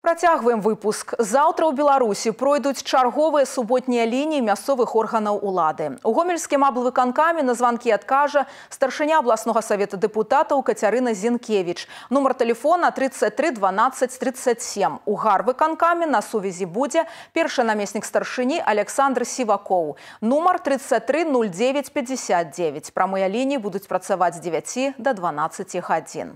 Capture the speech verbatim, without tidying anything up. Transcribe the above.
Працягваем выпуск. Заўтра ў Беларусі пройдуць чарговыя суботнія лініі мясцовых органаў улады. У гомельскім аблвыканкаме на званкі адкажа старшыня абласнога савета дэпутатаў Кацярына Зінкевіч. Нумар тэлефона тридцать три дванадцать тридцать семь. У гарвыканкаме на сувязі будзе першы намеснік старшыні Александр Сівакоў. Нумар тридцать три ноль девять пятьдесят девять. Прамыя лініі будуць працаваць з дзевяці да дванаццаці гадзін.